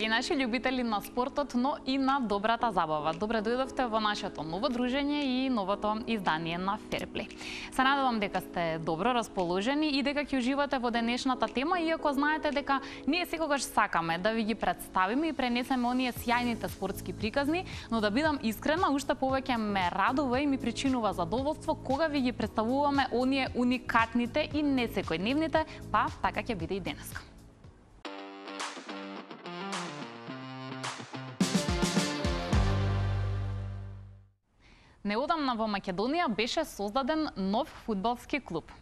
Драги наши љубители на спортот, но и на добрата забава. Добре дојдовте во нашето ново дружење и новото издание на Ферплей. Се надевам дека сте добро расположени и дека ќе уживате во денешната тема, иако знаете дека ние секогаш сакаме да ви ги представиме и пренесеме оние сјајните спортски приказни, но да бидам искрена, уште повеќе ме радува и ми причинува задоволство кога ви ги представуваме оние уникатните и не секојдневните, па така ќе биде и денеска. Неодамна во Македонија беше создаден нов фудбалски клуб.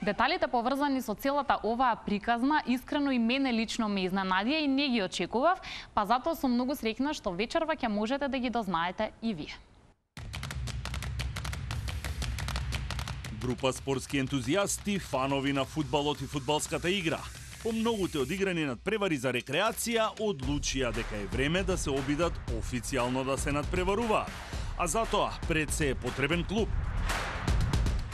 Деталите поврзани со целата оваа приказна искрено и мене лично ме изненадија и не ги очекував, па затоа сум многу среќна што вечерва ќе можете да ги дознаете и вие. Група спортски ентузијасти, фанови на фудбалот и фудбалската игра, по многуте одиграни надпревари за рекреација, одлучија дека е време да се обидат официјално да се надпреваруваат. А затоа пред се е потребен клуб.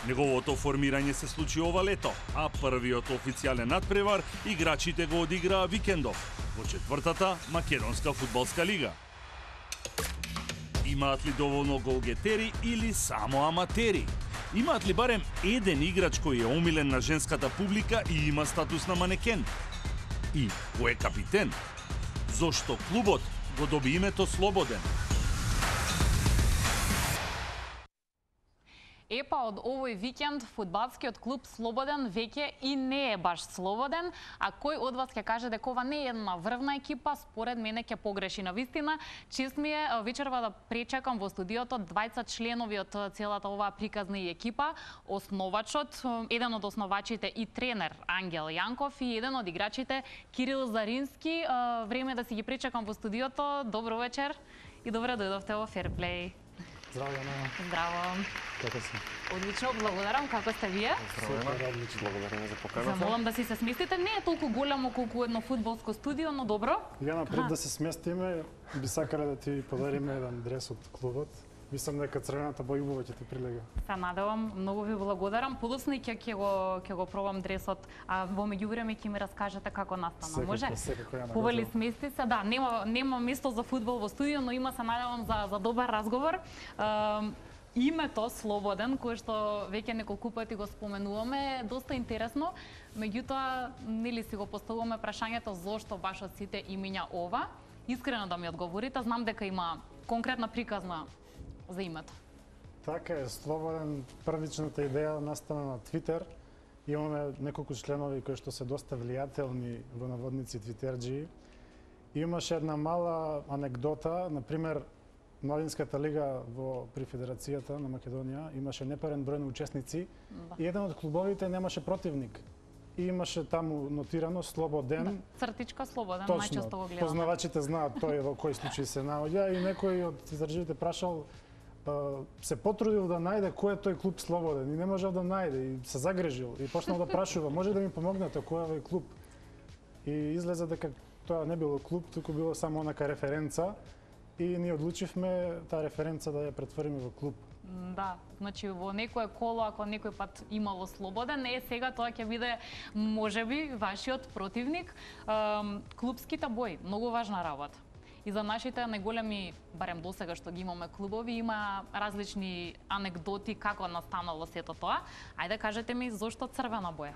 Неговото формирање се случи ова лето, а првиот официјален надпревар играчите го одиграа викендов во четвртата македонска фудбалска лига. Имаат ли доволно голгетери или само аматери? Имаат ли барем еден играч кој е омилен на женската публика и има статус на манекен? И кој е капитен? Зошто клубот го доби името Слободен? Епа од овој викенд фудбалскиот клуб Слободен веќе и не е баш слободен, а кој од вас ќе каже дека ова не е една врвна екипа, според мене ќе погреши. Навистина, чест ми е вечерва да пречекам во студиото двајца членови од целата оваа приказна и екипа, основачот, еден од основачите и тренер Ангел Јанков и еден од играчите Кирил Зарински. Време да си ги пречекам во студиото. Добро вечер и добре дојдовте во Ферплей. Здраво, Јана. Здраво. Како си? Одлично, благодарам. Како сте вие? Супер, одлично. Благодарам за поканата. Замолам да си се сместите. Не е толку големо колку едно фудбалско студио, но добро. Јана, пред да се сместиме, би сакале да ти подариме еден дрес од клубот. Мислам дека црвената боја убаво ќе ти прилега. Се надевам, многу ви благодарам. Подоцна и ќе го пробам дресот, а во меѓувреме ќе ми раскажете како настана. Може? Секако, Јана. Повели смести се. Да, нема место за фудбал во студио, но има, се надевам, за добар разговор. Името Слободен, кое што веќе неколку пати го споменуваме, е доста интересно. Меѓутоа, нели си го поставуваме прашањето зошто баш од сите имиња ова. Искрено да ми одговорите, знам дека има конкретна приказна за името. Така е, Слободен, првичната идеја настана на Твитер. Имаме неколку членови кои што се доста влијателни во наводници твитерџии. Имаше една мала анекдота, например, Младинската лига при Федерацијата на Македонија имаше непарен број на учесници и еден од клубовите немаше противник. И имаше таму нотирано Слободен. Цртичка Слободен, Точно, најчесто го гледаме. познавачите знаат тој во кој случај се наоѓа и некој од издрживите прашал, се потрудил да најде кој е тој клуб Слободен и не можел да најде и се загрежил и почнал да прашува, може да ми помогнете кој е овој клуб? И излезе дека тоа не било клуб, туку било само онака референца. И ние одлучивме таа референца да ја претвориме во клуб. Да, значи во некое коло, ако некој пат имало Слободен, сега тоа ќе биде можеби вашиот противник. Клубските бои, многу важна работа. И за нашите најголеми, барем досега што ги имаме клубови, има различни анекдоти како настанало сето тоа. Ајде кажете ми зошто црвена боја?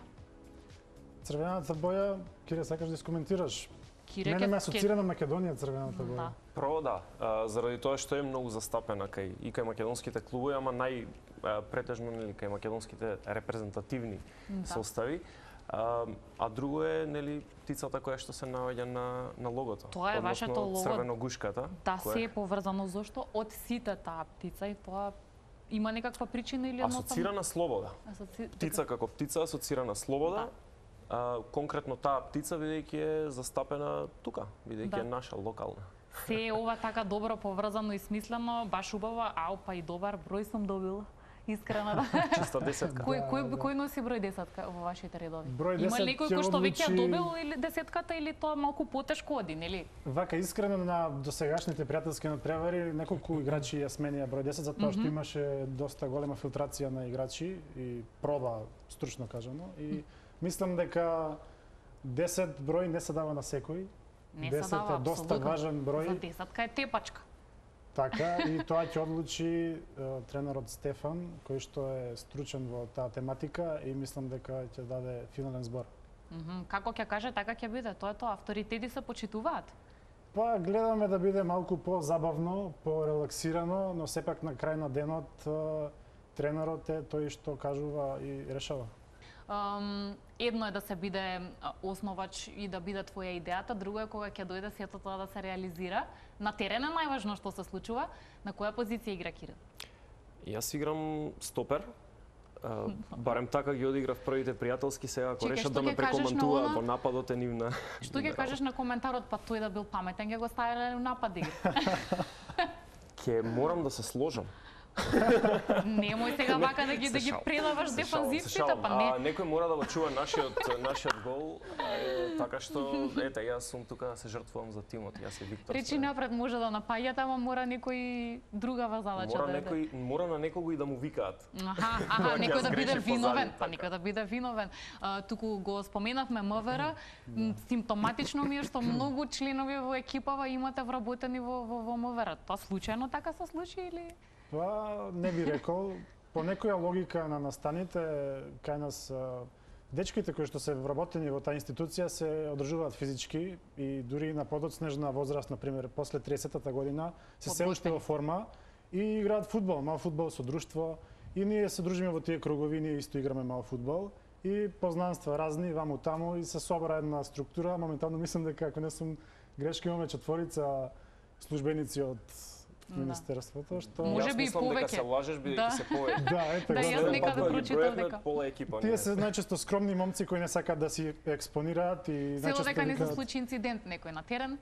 Црвената боја, Кире, сакаш да искоментираш? Кире, Мене ме асоцира на Македонија црвената боја. Право да, заради тоа што е многу застапена кај македонските клубови, ама претежно кај македонските репрезентативни состави. А друго е птицата која што се наоѓа на логото. Тоа е вашето лого. Црвено-гушката. Да, се е поврзано зошто од сите таа птица и тоа има некаква причина или едноставно? Асоцирана слобода. Птица како птица асоцирана слобода. Конкретно таа птица бидејќи е застапена тука, бидејќи е наша локална. Се е ова така добро поврзано и смислено, баш убаво, па и добар број сум добила. Искрено да. Чиста десетка. Кој носи број десетка во вашите редови? Број 10 има ли некој кој што веќе добил или десетката или тоа малку потешко оди, нели? Вака искрено на досегашните пријателски надпревари неколку играчи ја сменија број 10 затоа што имаше доста голема филтрација на играчи и проба стручно кажано и мислам дека 10 број не се дава на секој Не се 10 дава е доста апсолутно. важен број. За десетка е тепачка. Така, и тоа ќе одлучи тренерот Стефан, кој што е стручен во таа тематика и мислам дека ќе даде финален збор. Како ќе каже, така ќе биде. Тоа е тоа. Авторитети се почитуваат. Па гледаме да биде малку по-забавно, по-релаксирано, но сепак на крај на денот тренерот е тој што кажува и решава. Едно е да се биде основач и да биде твоја идејата, друго е кога ќе дојде сето тоа да се реализира. На терен е најважно што се случува. На која позиција игра Кирил? Јас играм стопер. Барем така ги одиграв првите пријателски, сега ако Чекај, решат што да ме ќе кажеш на прекоментуваат она? во нападот е нивна. Што ќе кажеш на коментарот, па тој да бил паметен, ќе го ставиле у напад да игра? Ќе морам да се сложам. Немој сега вака да ги предаваш дефанзивците, па не. Некој мора да го чува нашиот гол, така што ете јас сум тука да се жртвувам за тимот, јас и Виктор. Речи напред може да напаѓате, ама мора некој другава задача да е. Мора на некого и да му викаат. Аха, некој да биде греши виновен, позади, па некој да биде виновен. Туку го споменавме МВР, симптоматично ми е што многу членови во екипава имате вработени во МВР. Тоа случајно така се случи или? Па не би рекол, по некоја логика на настаните кај нас дечките кои што се вработени во таа институција се одржуваат физички и дури на подоцнежна возраст, на пример, после 30-та година се уште во форма и играат фудбал, мал фудбал со друштво и ние се дружиме во тие кругови, ние исто играме мал фудбал и познанства разни ваму таму и се собра една структура. Моментално мислам дека ако не сум грешка имаме 4 службеници од Министерството, што Може би и мислам дека повеќе. се лажеш бидејќи се повеќе. Да, ете Да, го. јас некаде прочитав дека пола екипа. Тие се најчесто скромни момци кои не сакаат да си експонираат и се најчесто дека не се викаат, случи инцидент некој на терен,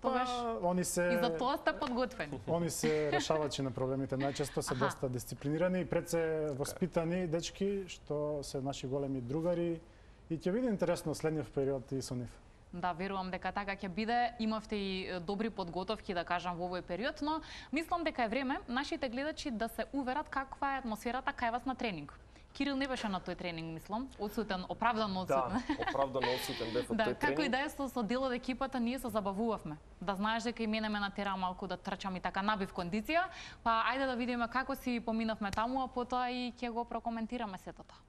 тогаш они и за тоа сте подготвени. Они се решавачи на проблемите, најчесто се доста дисциплинирани и пред се воспитани дечки што се наши големи другари и ќе биде интересно следниот период и со нив. Да, верувам дека така ќе биде. Имавте и добри подготовки, да кажам, во овој период, но мислам дека е време нашите гледачи да се уверат каква е атмосферата кај вас на тренинг. Кирил не беше на тој тренинг, мислам, одсутен, оправдано одсутен. Да, оправдано одсутен бев од Да, тој тренинг. како и да е со дел од екипата, ние се забавувавме. Да знаеш дека и мене ме натера малку да трчам и така набив кондиција, па ајде да видиме како си поминавме таму, а потоа и ќе го прокоментираме сето тоа.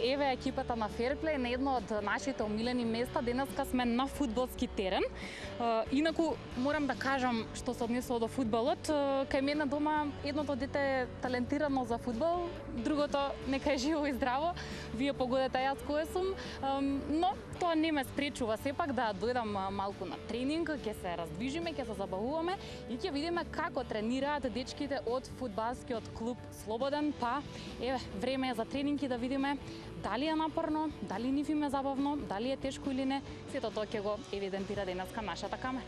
Еве екипата на Ферплей на едно од нашите омилени места. Денеска сме на фудбалски терен. Инаку морам да кажам што се однесува до фудбалот. Кај мене дома едното дете е талентирано за фудбал, другото нека е живо и здраво. Вие погодете јас кој сум, но тоа не ме спречува сепак да дојдам малку на тренинг, ќе се раздвижиме, ќе се забавуваме и ќе видиме како тренираат дечките од фудбалскиот клуб Слободен. Па еве време е за тренинг и да видиме дали е напорно, дали нив им е забавно, дали е тешко или не. Сето тоа ќе го евидентира денеска нашата камера.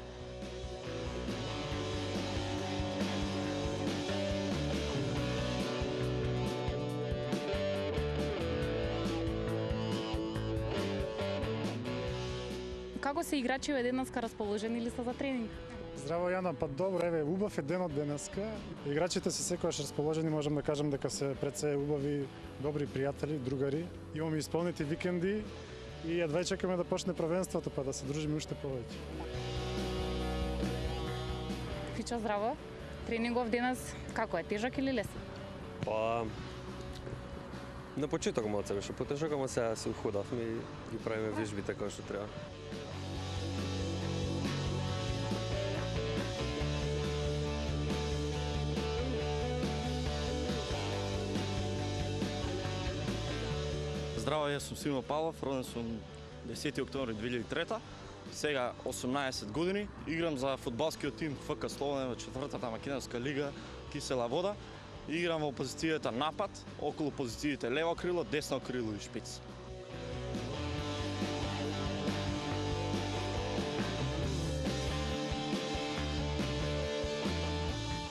Како се играчиве денеска, расположени ли се за тренинг? Здраво Јана, па добро, еве убав е денот денеска. Играчите се секогаш расположени, можам да кажам дека се пред се убави, добри пријатели, другари. Имаме исполнети викенди и едва чекаме да почне првенството, па да се дружиме уште повеќе. Фичо, здраво. Тренингов денес како е, тежак или лесен? Па на почеток малце беше потежок, ама сега се уходавме и ги правиме вежбите како што треба. Здраво, јас сум Симо Павлов, роден сум 10 октомври 2003. Сега 18 години, играм за фудбалскиот тим ФК Слободен во 4-та македонска лига Кисела вода. Играм во позицијата напад, околу позициите лево крило, десно крило и шпиц.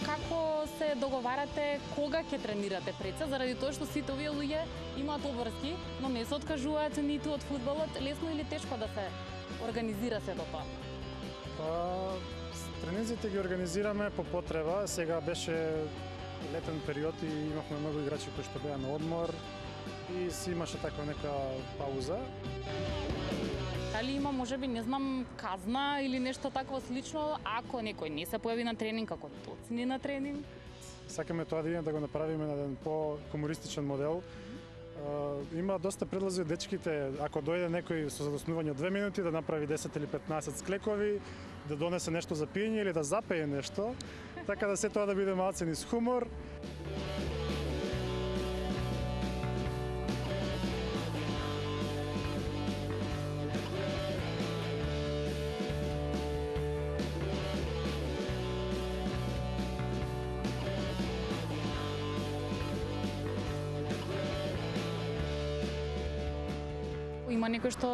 Како се се договарате кога ќе тренирате пред се, заради тоа што сите овие луѓе имаат обврски, но не се откажуваат ниту од фудбалот, лесно или тешко да се организира сето тоа? Тренинзите ги организираме по потреба. Сега беше летен период и имавме многу играчи кои што беа на одмор и си имаше таква нека пауза. Дали има, можеби, не знам, казна или нешто такво слично, ако некој не се појави на тренинг, ако доцни на тренинг? Сакаме тоа да го направиме на еден по-хумористичен модел. Има доста предлози од дечките, ако дојде некој со задоснување од 2 минути да направи 10 или 15 склекови, да донесе нешто за пиење или да запее нешто, така да се тоа да биде малце низ хумор. Има некој што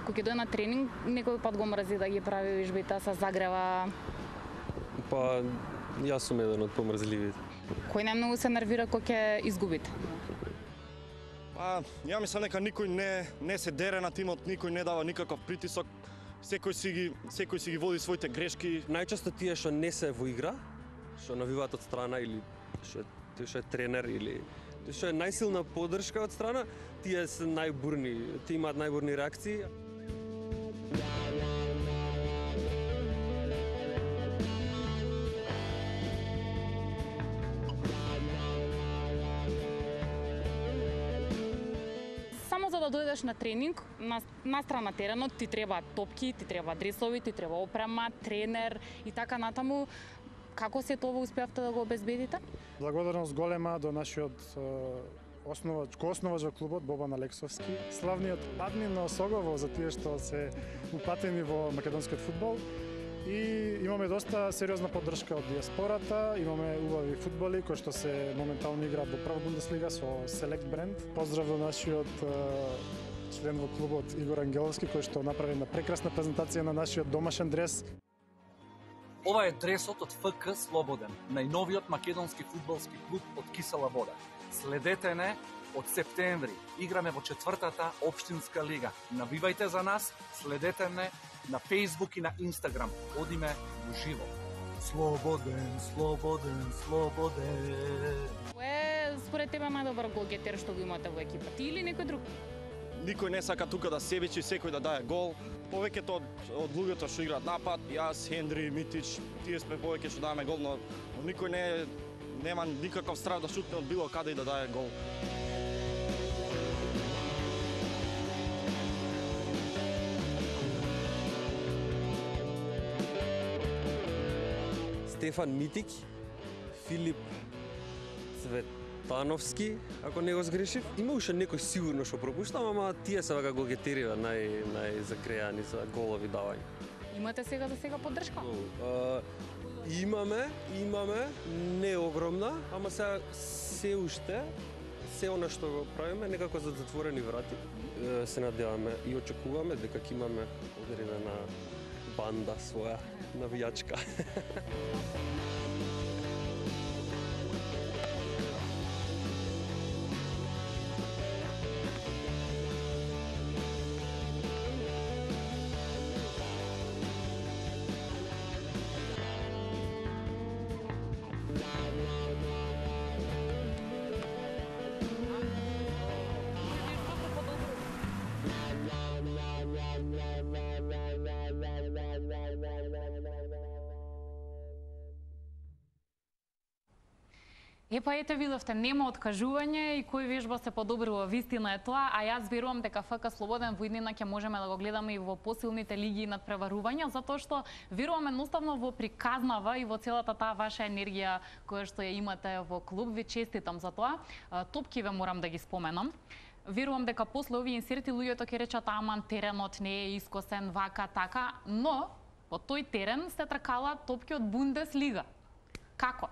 кога ќе дојде на тренинг, некој пат го мрзи да ги прави вежбите, се загрева. Па, јас сум еден од помрзливите. Кој најмногу се нервира кога ќе изгубите? Па, ја мислам дека никој не се дере на тимот, никој не дава никаков притисок. Секој си ги води своите грешки. Најчесто тие што не се во игра, што навиваат од страна или што е тренер или што е најсилна поддршка од страна, тие се најбурни, тие имаат најбурни реакции. Само за да дојдеш на тренинг, на страна теренот ти треба топки, ти треба дресови, ти треба опрема, тренер и така натаму. Како се тоа успеавте да го обезбедите? Благодарност голема до нашиот основач во клубот Бобан Алексовски, славниот админ на Осогово за тие што се упатени во македонскиот фудбал. И имаме доста сериозна поддршка од диаспората, имаме убави фудбали кои што се моментално играат во прва Бундеслига со Select бренд. Поздрав до нашиот член во клубот Игор Ангеловски кој што направи една прекрасна презентација на нашиот домашен дрес. Ова е дресот од ФК Слободен, најновиот македонски фудбалски клуб од Кисела Вода. Следете не од септември. Играме во 4-та општинска лига. Навивајте за нас, следете не на Facebook и на Instagram. Одиме во живо. Слободен, слободен, слободен. Кој е според тебе најдобар голгетер што го имате во екипа? Ти или некој друг? Никој не сака тука да себечи, секој да дае гол. Повеќето од луѓето што играат напад, јас, Хендри, Митич, тие сме повеќе што даваме гол, но никој нема никаков страв да шутне од било каде и да дае гол. Стефан Митик, Филип Цветановски, ако не го сгрешив. Има уште некој сигурно што пропуштам, ама тие се вака голгетериве најзакрејани за голови давање. Имате сега за сега поддршка? Имаме, не огромна, ама се уште, се она што го правиме, некако за затворени врати. Се надеваме и очекуваме дека ќе имаме одредена банда своја навијачка. Епа ете видовте, нема откажување и кој вежба се подобрува, вистина е тоа, а јас верувам дека ФК Слободен во иднина ќе можеме да го гледаме и во посилните лиги над преварувања, затоа што верувам едноставно во приказнава и во целата таа ваша енергија која што ја имате во клуб. Ви честитам за тоа. Топки ве морам да ги споменам. Верувам дека после овие инсерти луѓето ќе речат аман теренот не е искосен, вака, така, но по тој терен се тркалаат топки од Бундеслига. Како?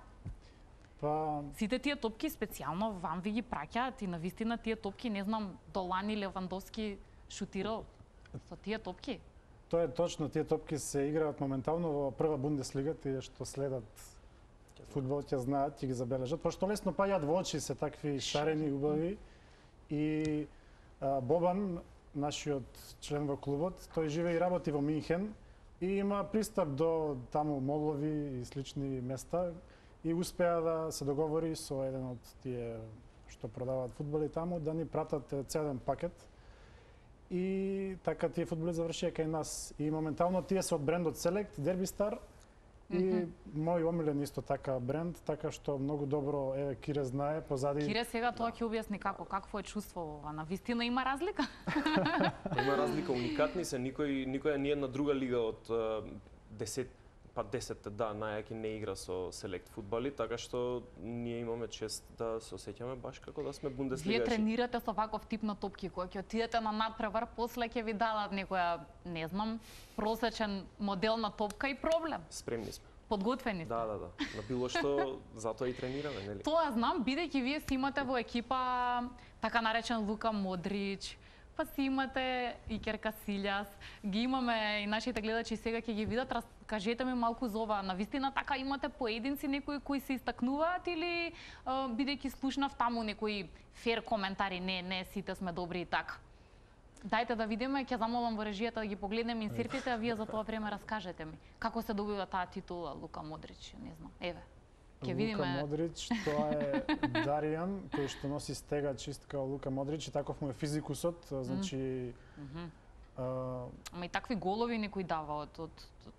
Сите тие топки специјално вам ви ги праќаат и навистина тие топки, не знам, Долани Левандовски шутирал со тие топки? Тоа е точно, тие топки се играат моментално во прва Бундеслига, тие што следат фудбал ќе знаат, ќе ги забележат, пошто лесно паѓаат во очи се такви шарени, убави. И Бобан, нашиот член во клубот, тој живее и работи во Минхен и има пристап до таму молови и слични места и успеа да се договори со еден од тие што продаваат фудбали таму да ни пратат целен пакет. И така тие фудбали завршија кај нас. И моментално тие се од брендот Select, Derby Star, и мој омилен исто така бренд, така што многу добро Кире знае позади. Кире сега тоа ќе објасни какво е чувство ова. На вистина има разлика? Има разлика, уникатни се, никоја ни една друга лига од 10 најаки не игра со Select фудбали, така што ние имаме чест да се осеќаме баш како да сме бундеслигачи. Вие тренирате со ваков тип на топки, кога ќе отидете на надпревар, после ќе ви дадат некоја, не знам, просечен модел на топка и проблем. Спремни сме. Подготвени сте. Да. На било што затоа и тренираме, нели? Тоа знам, бидејќи вие си имате во екипа така наречен Лука Модрич, па си имате Икер Касилјас, ги имаме и нашите гледачи сега ќе ги видат. Кажете ми малку за ова, навистина така имате поединци некои кои се истакнуваат или бидејќи слушнав таму некои фер коментари, не сите сме добри и така. Дајте да видиме, ќе замолам во режијата да ги погледнеме инсертите, а вие за тоа време раскажете ми. Како се добива таа титула Лука Модрич, не знам. Еве. Ќе видиме. Лука Модрич, тоа е Даријан кој што носи стега чист као Лука Модрич и таков му е физикусот, значи Ама и такви голови некој дава од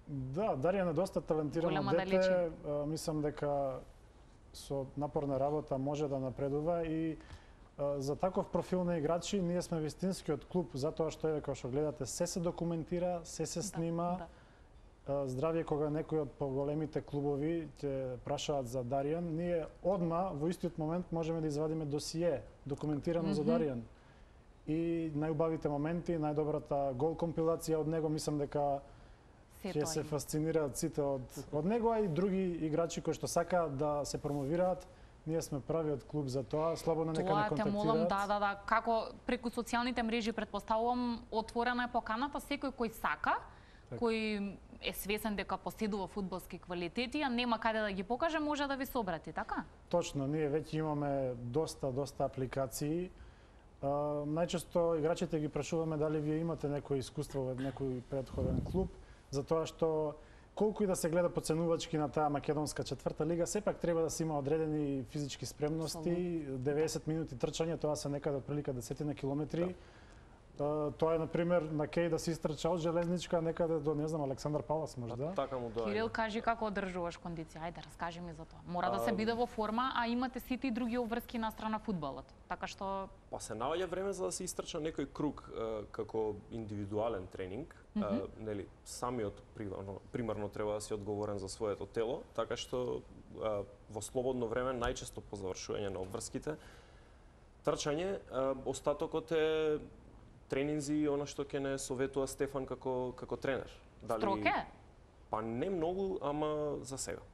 Да, Даријан е доста талентирано дете, мислам дека со напорна работа може да напредува и за таков профил на играчи ние сме вистинскиот клуб, затоа што е како што гледате се документира, се снима. Здравје кога некој од поголемите клубови ќе прашаат за Даријан, ние одма во истиот момент можеме да извадиме досие документирано за Даријан. И најубавите моменти, најдобрата гол компилација од него, мислам дека ќе се фасцинираат сите од него, а и други играчи кои што сакаат да се промовираат. Ние сме правиот клуб за тоа, слободно нека не контактираат. Тоа те молам, да, како преку социјалните мрежи претпоставувам, отворена е поканата, секој кој сака, кој е свесен дека поседува фудбалски квалитети, а нема каде да ги покаже, може да ви се обрати, така? Точно, ние веќе имаме доста апликации. Најчесто играчите ги прашуваме дали вие имате некој искуство во некој претходен клуб, затоа што колку и да се гледа поценувачки на таа македонска четврта лига, сепак треба да се има одредени физички спремности, 90 минути трчање, тоа се некаде отприлика 10 километри. Тоа е, например, на Кеј да се истрча од Железничка некаде до, не знам, Александар Палас, можда. Така му доаѓа. Кирил, кажи како одржуваш кондиција. Ајде, раскажи ми за тоа. Мора да се биде во форма, а имате сите и други обврски на страна фудбалот. Така што Па се наоѓа време за да се истрча некој круг како индивидуален тренинг, нели, самиот примарно треба да си одговорен за своето тело, така што во слободно време најчесто по завршување на обврските трчање, остатокот е тренинзи и она што ќе не советува Стефан како тренер. Строг е? Па не многу, ама за сега.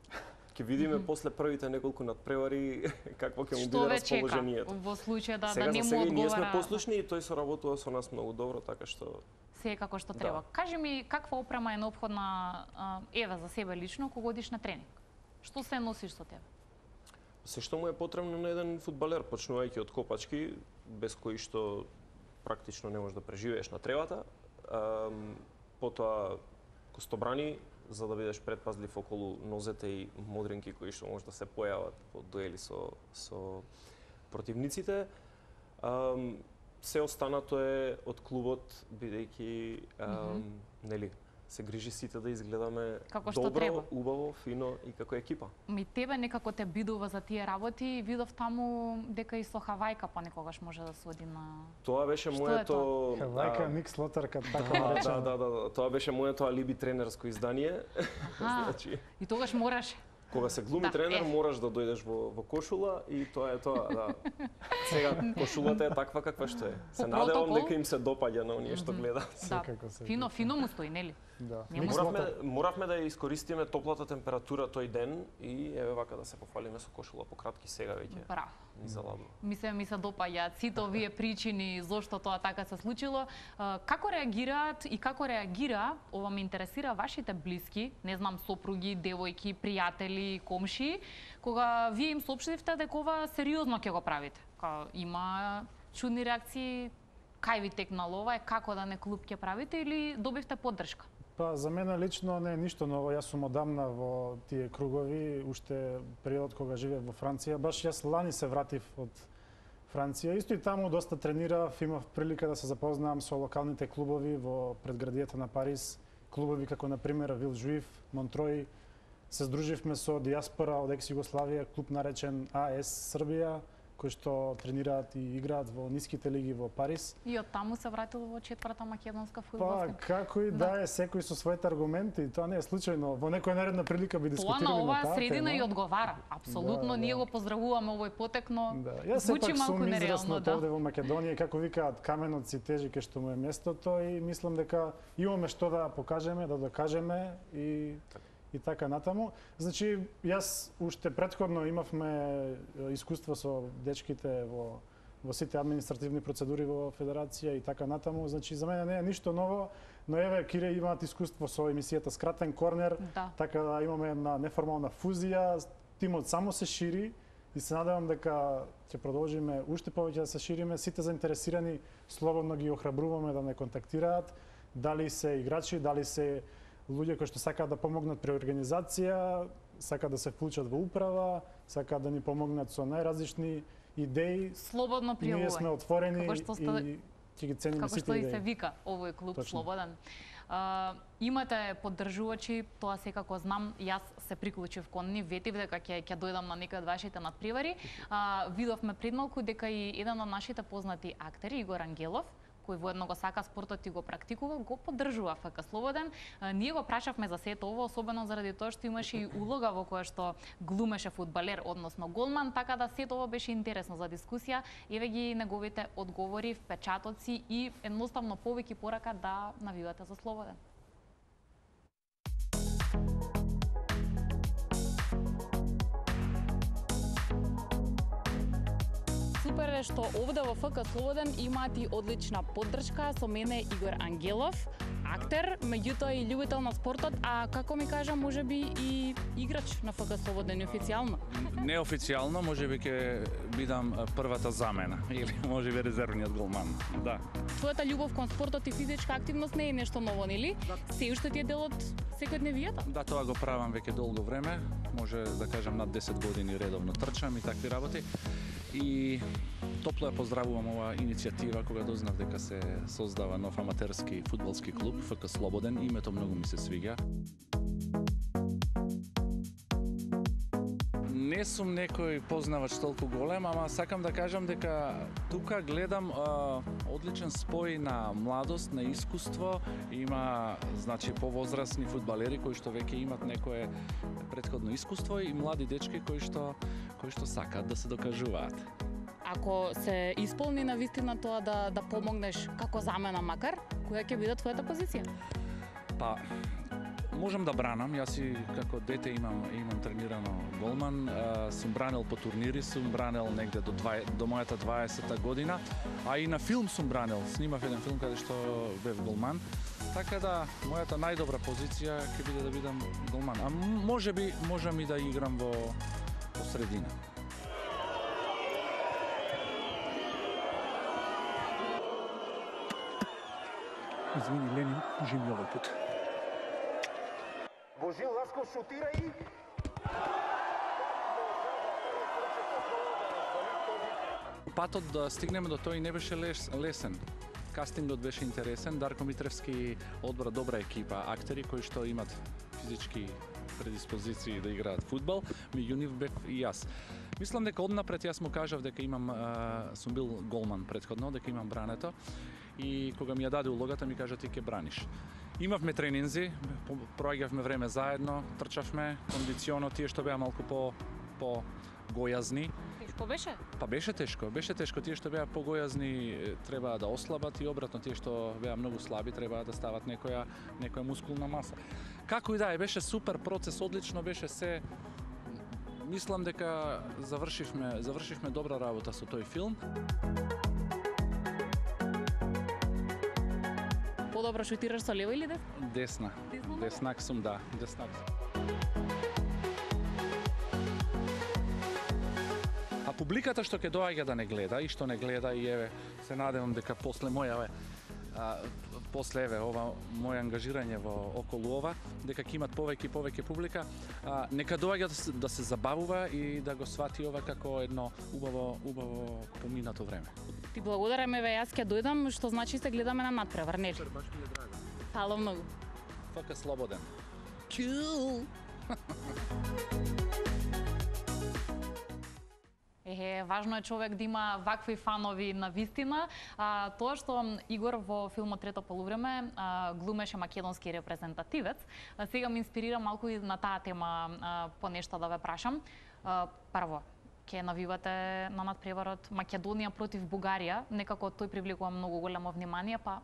Ќе видиме после првите неколку надпревари какво ќе му биде расположението. Што ве чека во случај да сега, не му за сега одговара? Ние сме послушни и тој соработува со нас многу добро, така што се како што треба. Кажи ми каква опрема е неопходна еве за себе лично кога одиш на тренинг? Што се носиш со тебе? Се што му е потребно на еден фудбалер, почнувајќи од копачки, без кои што практично не можеш да преживееш на тревата. Потоа костобрани, за да бидеш предпазлив околу нозете и модринки кои што може да се појават во дуели со противниците. Се останато е од клубот, бидејќи нели се грижи сите да изгледаме како што добро, треба, убаво, фино и како екипа. Ми тебе некако те бидува за тие работи и видов таму дека и со Хавајка понекогаш може да се оди на... Тоа беше моето... Хавајка, Ник Слотарка, така наречено. Да. Тоа беше моето алиби тренерско издание. Значи... И тогаш мораш... Кога се глуми тренер, мораш да дојдеш во кошула и тоа е тоа, да. Сега кошулата е таква каква што е. Се надевам дека им се допаѓа на оние што гледаат. Да, фино му стои, нели? Да. Моравме да ја искористиме топлата температура тој ден и еве вака да се пофалиме со кошула по кратки сега веќе. Браво. Ни заладува. Ми се допаѓаат сите овие причини зошто тоа така се случило. Како реагираат и како реагира, ова ме интересира, вашите блиски, не знам, сопруги, девојки, пријатели, комши, кога вие им соопштивте дека ова сериозно ќе го правите? Има чудни реакции, кај ви текнало ова, како да не клуб ќе правите или добивте поддршка? Па за мене лично не е ништо ново. Јас сум одамна во тие кругови, уште период кога живеев во Франција. Баш јас лани се вратив од Франција. Исто и таму доста тренирав, имав прилика да се запознавам со локалните клубови во предградието на Париз. Клубови како на пример Вилжуив, Монтрој. Се здруживме со диаспора од екс-Југославија, клуб наречен АС Србија, кои што тренираат и играат во ниските лиги во Париз. И од таму се вратил во четврта македонска Па, фудбалска. како и да е, секој со своите аргументи, тоа не е случајно. Во некоја наредна прилика би дискутирале Тоа на на оваа таа средина тема. и одговара. Апсолутно, ние го поздравуваме овој потек, но Јас звучи сепак малку сум нереално, израснат овде во Македонија, како викаат, каменот си тежи кај што му е местото и мислам дека имаме што да покажеме, да докажеме и така натаму. Значи, јас уште претходно имавме искуство со дечките во сите административни процедури во Федерација и така натаму. Значи, за мене не е ништо ново, но еве, Кире имаат искуство со емисијата Скратен корнер, така да имаме една неформална фузија, тимот само се шири и се надевам дека ќе продолжиме уште повеќе да се шириме. Сите заинтересирани слободно ги охрабруваме да не контактираат, дали се играчи, дали се луѓе кои што сакаат да помогнат при организација, сакаат да се вклучат во управа, сакаат да ни помогнат со најразлични идеи. Слободно пријавување. Ние сме отворени и ќе ги цениме сите како што идеи. и се вика овој клуб Точно. Слободен. Имате поддржувачи, тоа секако знам, јас се приклучив кон нив, ветив дека ќе дојдам на некој од вашите надпревари. Видовме пред малку дека и еден од нашите познати актери, Игор Ангелов, кој воедно го сака спортот и го практикува, го поддржува ФК Слободен. Ние го прашавме за сето ово, особено заради тоа што имаше и улога во која што глумеше фудбалер, односно голман, така да сето ово беше интересно за дискусија. Еве ги неговите одговори, впечатоци и едноставно повеќе порака да навивате за Слободен. Супер е што овде во ФК Слободен имаат и одлична поддршка. Со мене Игор Ангелов, актер, меѓутоа и љубител на спортот, а како ми кажа, можеби и играч на ФК Слободен официјално. Неофицијално, можеби ќе бидам првата замена или можеби резервниот голман. Да. Твојата љубов кон спортот и физичка активност не е нешто ново, нели? Се уште ти е дел од секојдневијата? Да, тоа го правам веќе долго време, може да кажам над 10 години редовно трчам и такви работи. И топло ја поздравувам оваа иницијатива кога дознав дека се создава нов аматерски фудбалски клуб ФК Слободен. Името многу ми се свиѓа. Не сум некој познавач толку голем, ама сакам да кажам дека тука гледам одличен спој на младост, на искуство. Има, значи, повозрасни фудбалери кои што веќе имат некое претходно искуство и млади дечки кои што сакаат да се докажуваат. Ако се исполни на вистина тоа да помогнеш како замена макар, која ќе биде твојата позиција? Па, можам да бранам, јас и како дете имам тренирано голман, сум бранел по турнири, сум бранел негде до мојата 20-та година, а и на филм сум бранел, снимав еден филм каде што бев голман, така да мојата најдобра позиција ќе биде да бидам голман, а можеби можам и да играм во средина. Извини, Ленин, кажи ми овој пат. Божил Ласков шутира и... Патот да стигнеме до тој не беше лесен. Кастингот беше интересен. Дарко Митревски одбра добра екипа, актери кои што имат физички предиспозиции да играат фудбал, меѓу нив бев и јас. Мислам дека однапред јас му кажав дека сум бил голман претходно, дека имам брането и кога ми ја даде улогата ми кажа ти ќе браниш. Имавме тренинзи, проаѓавме време заедно, трчавме, кондиционо, тие што беа малку гојазни. Тешко беше? Па беше тешко. Тие што беа погојазни требаа да ослабат и обратно тие што беа многу слаби требаа да стават некоја мускулна маса. Како и да е, беше супер процес, одлично беше се. Мислам дека завршивме добра работа со тој филм. Подобро шутираш со лево или десно? Десна. Деснак сум, да. Деснак сум. А публиката што ќе доаѓа да не гледа и што не гледа и еве се надевам дека после ова моje ангажирање во околу ова, дека ќе имат повеќе публика, нека доаѓа да се забавува и да го свати ова како едно убаво поминато време. Ти благодарам, еве јас ќе дојдам, што значи се гледаме на надпревар, нели? Баш ми е драго. Фала многу. ФК Слободен. Чул. Важно е човек да има вакви фанови на вистина. Тоа што Игор во филмот Трето полувреме глумеше македонски репрезентативец, сега ме инспирира малку и на таа тема по нешто да ве прашам. Прво, ќе навивате на надпреварот Македонија против Бугарија, некако тој привлекува многу големо внимание, па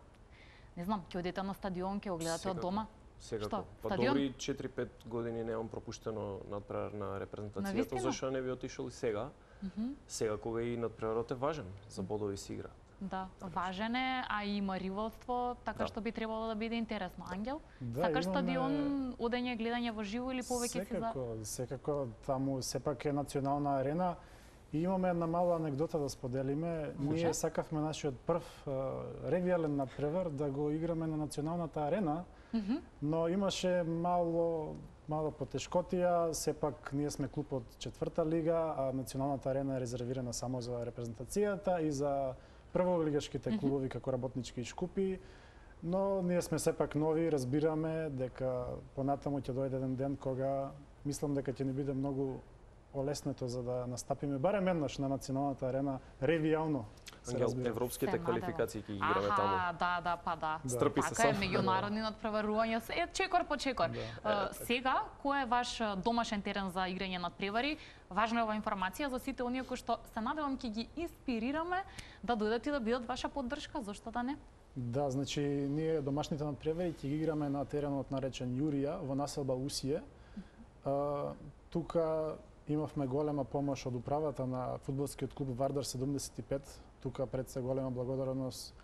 не знам, ќе одите на стадион, ќе го гледате од дома? Секако. Па добри 4-5 години немам пропуштено надпревар на репрезентацијата, зашто не би отишол и сега. Сега кога и надпреварот е важен, за бодови се игра. Да, важен е, а и има ривалство, така што би требало да биде интересно. Ангел, сакаш стадион, одење, гледање во живо или повеќе си за? Секако, таму сепак е национална арена и имаме една мала анегдота да споделиме. Ние сакавме нашиот прв регијален надпревар да го играме на националната арена, но имаше мало потешкотија, сепак ние сме клуб од 4-та лига, а националната арена е резервирана само за репрезентацијата и за прволигашките клубови како работнички шкупи, но ние сме сепак нови, разбираме дека понатаму ќе дојде еден ден кога мислам дека ќе ни биде многу олеснето за да настапиме барем еднаш на националната арена регионално. Ангел, европските квалификации ќе ги играме таму. Да. Стрпи се така е, меѓународни надпреварувања, чекор по чекор. Сега, кој е ваш домашен терен за играње надпревари? Важна е ова информација за сите оние кои што се надевам ќе ги инспирираме да дојдат и да бидат ваша поддршка, зошто да не? Да, значи ние домашните надпревари ќе ги играме на теренот наречен Јурија во населба Усие. Тука имавме голема помош од управата на фудбалскиот клуб Вардар 75. Тука пред се голема благодарност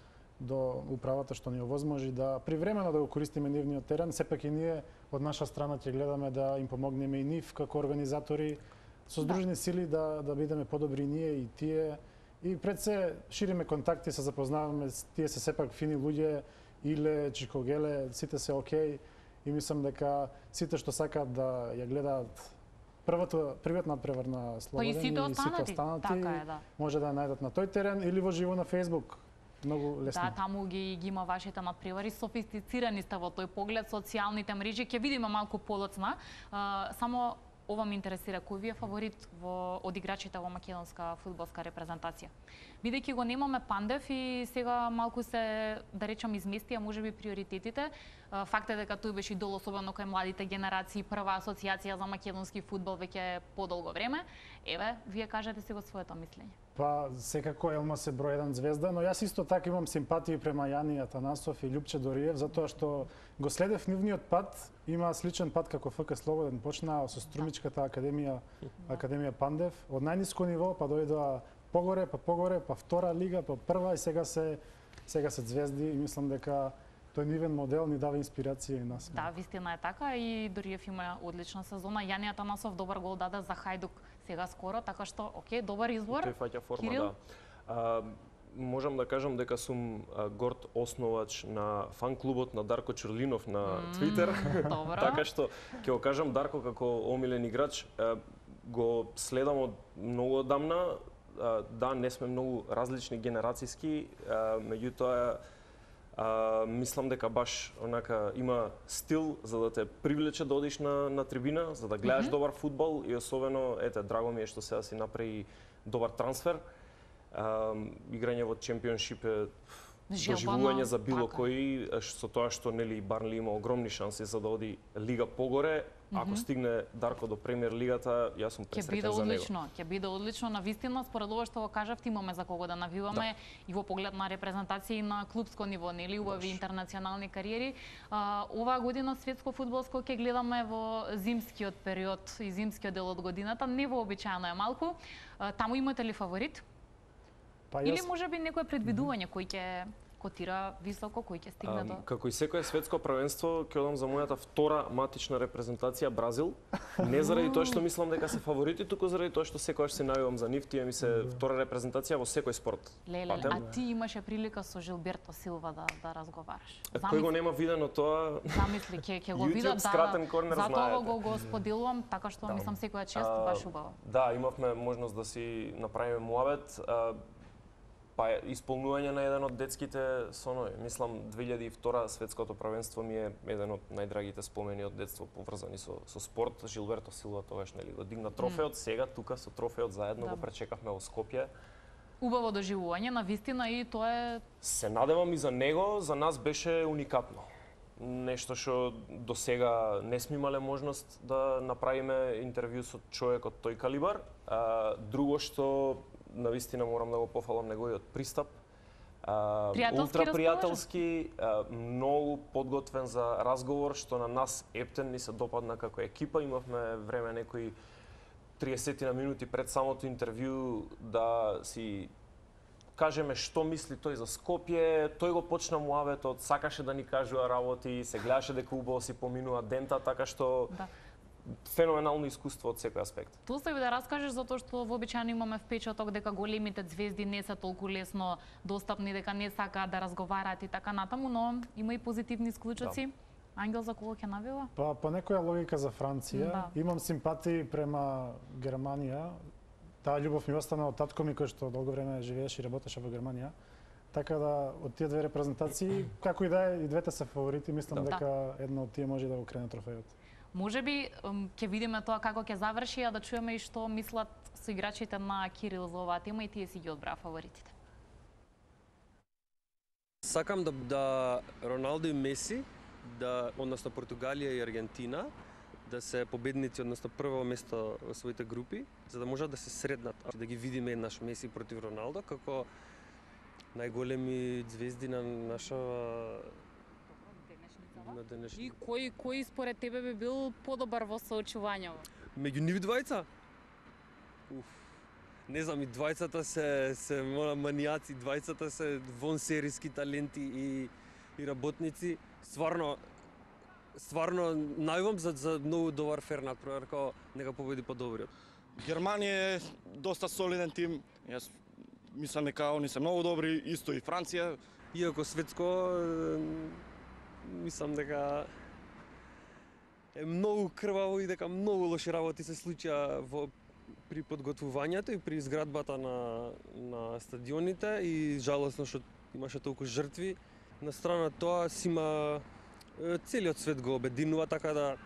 до управата што ни овозможи да привремено да го користиме нивниот терен. Сепак и ние од наша страна ќе гледаме да им помогнеме и нив како организатори со здружени сили да бидеме подобри ние и тие. И пред се шириме контакти, се запознаваме, тие се сепак фини луѓе, Иле, Чикогеле, сите се окей и мислам дека сите што сакаат да ја гледаат првиот надпревар на Слободен и сите останати може да ја најдат на тој терен или во живо на Facebook. Многу лесно. Да, таму ги има вашите надпревари, софистицирани сте во тој поглед, социјалните мрежи, ќе видиме малку подоцна. Само ова ме интересира, кој ви е фаворит од играчите во македонска фудбалска репрезентација? Бидејќи го немаме Пандев и сега малку се, да речам, изместија можеби приоритетите. Факт е дека тој беше идол, особено кај младите генерации, прва асоциација за македонски фудбал веќе подолго време. Еве, вие кажете си го своето мислење. Па, секако Елма се број 1 звезда, но јас исто така имам симпатии према Јани Атанасов и Љупче Дориев, затоа што го следев нивниот пат, има сличен пат како ФК Слободен, почнаа со Струмичката академија Пандев, од најниско ниво па дојдоа погоре, па втора лига, па прва и сега се звезди и мислам дека тој нивен модел ни дава инспирација и нас. Да, вистина е така и Дориев има одлична сезона. Јани Атанасов добар гол даде за Хајдук сега скоро, така што окей, добар избор. Тој фаќа форма, да. Можам да кажам дека сум горд основач на фан клубот на Дарко Чурлинов на Твитер. Така што ќе го кажам Дарко како омилен играч, го следам од многу одамна. Да, не сме многу различни генерацијски, меѓутоа мислам дека баш онака има стил за да те привлече да одиш на трибина, за да гледаш добар фудбал и особено драго ми е што сега си направи добар трансфер. Играње во чемпионшип е доживување за било кој, со тоа што нели Барнли има огромни шанси за да оди лига погоре, Ако стигне Дарко до премиер лигата, јас сум пресреќен за него. Ќе биде одлично, навистина, според ова што го кажавте, имаме за кого да навиваме и во поглед на репрезентација и на клубско ниво, нели, убави интернационални кариери. Оваа година светско фудбалско ќе гледаме во зимскиот период и зимскиот дел од годината, невообичаено е малку. Таму имате ли фаворит? Или можеби некое предвидување кој ќе котира високо, кој ќе стигне до... Како и секое светско првенство, ќе одам за мојата втора матична репрезентација Бразил. Не заради тоа што мислам дека се фаворити, туку заради тоа што секогаш се најувам за нив, тие ми се втора репрезентација во секој спорт. Леле, а ти имаше прилика со Жилберто Силва да разговараш. Кој го нема видено тоа? Замисли, ќе го видат, затоа го споделувам, така што мислам секоја чест баш убаво. Да, имавме можност да си направиме муабет. Па исполнување на еден од детските сонови. Мислам 2002 светското првенство ми е еден од најдрагите спомени од детство поврзани со спорт. Жилберто Силва тогаш нели го дигна трофеот, сега тука со трофеот заедно го пречекавме во Скопје. Убаво доживување, навистина, и тоа е... Се надевам и за него, за нас беше уникатно. Нешто што до сега не сме имале можност да направиме интервју со човек од тој калибар. Друго што навистина морам да го пофалам неговиот пристап. Ултра пријателски, многу подготвен за разговор, што на нас Ептен ни се допадна како екипа. Имавме време некои 30 на минути пред самото интервју да си кажеме што мисли тој за Скопје. Тој го почна муаветот, сакаше да ни кажува работи, се гледаше дека убаво си поминува дента, така што феноменално искуство од секој аспект. Тоа се да раскажеш, затоа што вообичаено имаме впечаток дека големите звезди не се толку лесно достапни, дека не сакаат да разговараат и така натаму, но има и позитивни исклучоци. Ангел, за кого ќе навива? Па по некоја логика за Франција, имам симпатии према Германија. Таа љубов ми остана од татко ми кој што долго време живееше и работеше во Германија. Така да од тие две репрезентации, како и да е, и двете се фаворити, мислам дека една од тие може да го крене трофејот. Можеби ќе видиме тоа како ќе заврши, а да чуеме и што мислат соиграчите на Кирил за оваа тема, и тие си ги одбраа фаворитите. Сакам да Роналдо и Меси, односно Португалија и Аргентина, да се победници, односно прво место во своите групи, за да можат да се среднат, да ги видиме еднаш Меси против Роналдо како најголеми звезди на наша И кој според тебе би бил подобар во соочувањето? Меѓу нив двајца? Не знам, и двајцата се манијаци, двајцата се вонсериски таленти и работници. Стварно најувам за многу добар фернат, проверка нека победи подобриот. Германија е доста солиден тим. Јас мислам дека они се многу добри, исто и Франција. Иако светско мислам дека е многу крваво и дека многу лоши работи се случија при подготвувањето и при изградбата на стадионите и жалосно што имаше толку жртви. На страна тоа целиот свет го обединува, така да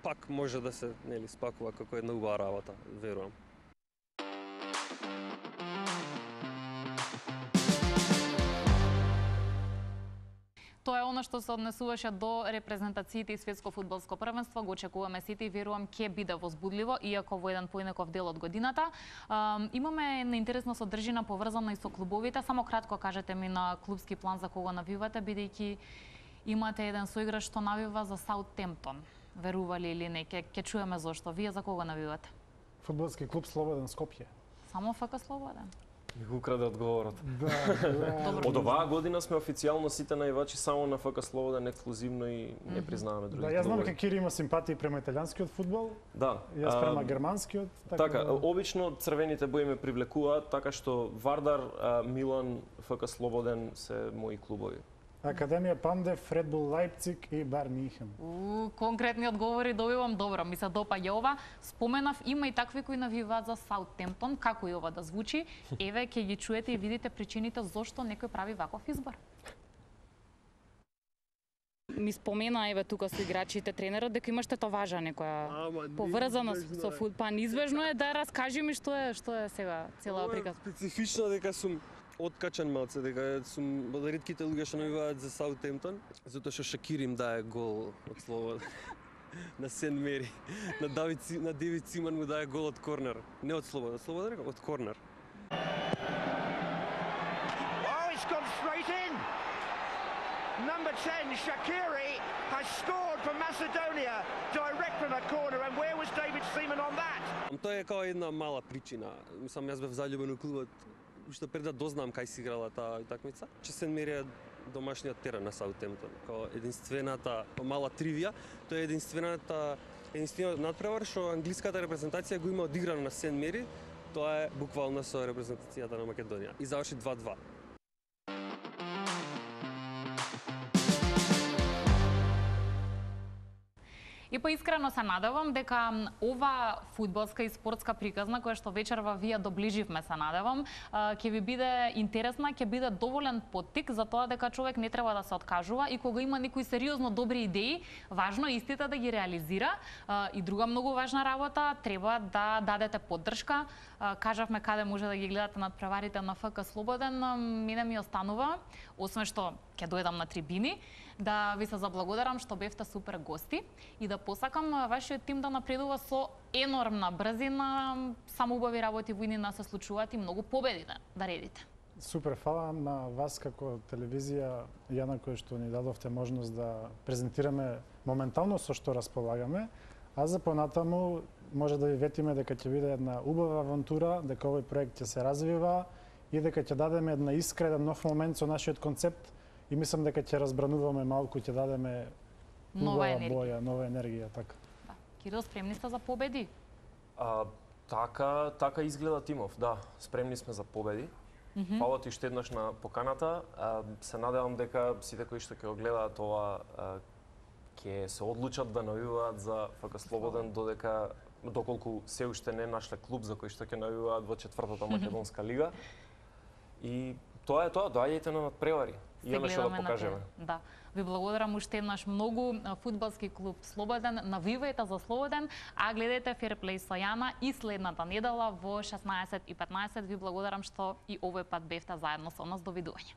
пак може да се спакува како една убава работа, верувам. Тоа е она што се однесуваше до репрезентациите и светско фудбалско првенство. Го очекуваме сите и верувам ќе биде возбудливо, иако во еден поинаков дел од годината. Имаме една интересна содржина поврзана и со клубовите. Само кратко кажете ми на клубски план за кого навивате, бидејќи имате еден соиграч што навива за Саутемптон. Верували или не? Ќе чуеме зошто. Вие за кого навивате? Фудбалски клуб Слободен Скопје. Само ФК Слободен? Ми го украде одговорот. Да. Од оваа година сме официјално сите наивачи само на ФК Слободен, ексклузивно, и не признаваме други клубови. Да, јас знам дека Кири има симпатии према италијанскиот фудбал. Да. Јас према германскиот. Така, обично црвените бои ме привлекуваат, така што Вардар, Милан, ФК Слободен се мои клубови. Академија Пандев, Ред Бул Лајпциг и Бар Михен. Конкретни одговори добивам, добро, ми се допаѓа ова. Споменав, има и такви кои навиваат за Саутемптон, како и ова да звучи. Еве, ќе ги чуете и видите причините зошто некој прави ваков избор. Ми спомена, еве, тука со играчите, тренерот, дека имаш тетоважа некоја поврзана со фудбал. Неизбежно е да раскажи ми што е сега целава приказка. Специфично дека сум откачан малце, дека сум од ретките луѓе што навиваат за Саутемптон, затоа што Шакир им дае гол од Слободен. на Сен Мери. На Девид Симан му даде гол од корнер. Не од слободен, од корнер. Oh, it's gone straight in. Number 10, Shaqiri, has scored for Macedonia direct from a corner. And where was David Seaman on that? Тоа е како една мала причина. Мислам, јас бев заљубен у клубот уште пред да дознам кај си играла таа утакмица. Че Сен Мери е домашниот терен на Саутемптон. Како единствената мала тривија, тоа е единствениот надпревар што англиската репрезентација го има одиграно на Сен Мери. Тоа е буквално со репрезентацијата на Македонија. И заврши 2-2. И поискрено се надевам дека ова фудбалска и спортска приказна која што вечерва вие доближивме, се надевам, ќе ви биде интересна, ќе биде доволен поттик за тоа дека човек не треба да се откажува и кога има некои сериозно добри идеи, важно е истите да ги реализира. И друга многу важна работа, треба да дадете поддршка. Кажавме каде може да ги гледате надпреварите на ФК Слободен. Мене ми останува, освен што ќе дојдам на трибини, да ви се заблагодарам што бевте супер гости и да посакам вашиот тим да напредува со енормна брзина, само убави работи во иднина се случуваат и многу победи да редите. Супер, фала на вас како телевизија, Јана, кој што ни дадовте можност да презентираме моментално со што располагаме, а за понатаму може да ви ветиме дека ќе биде една убава авантура, дека овој проект ќе се развива и дека ќе дадеме една искра, еден нов момент со нашиот концепт и мислам дека ќе разбрануваме малку, ќе дадеме нова енергија. Боја, нова енергија, така. Да. Кирил, спремни сте за победи? Така изгледа тимов, да. Спремни сме за победи. Фала ти уште еднаш на поканата. Се надевам дека сите кои што ќе го гледаат ова ќе се одлучат да навиваат за ФК Слободен доколку се уште не нашле клуб за кој што ќе навиваат во 4-та македонска лига. И тоа е тоа, доаѓајте на надпревари. Имаме што да покажеме. Да. Ви благодарам уште еднаш многу. Фудбалски клуб Слободен, навивајте за Слободен, а гледајте Ферплей со Јана и следната недела во 16:15. Ви благодарам што и овој пат бевте заедно со нас. Довидување.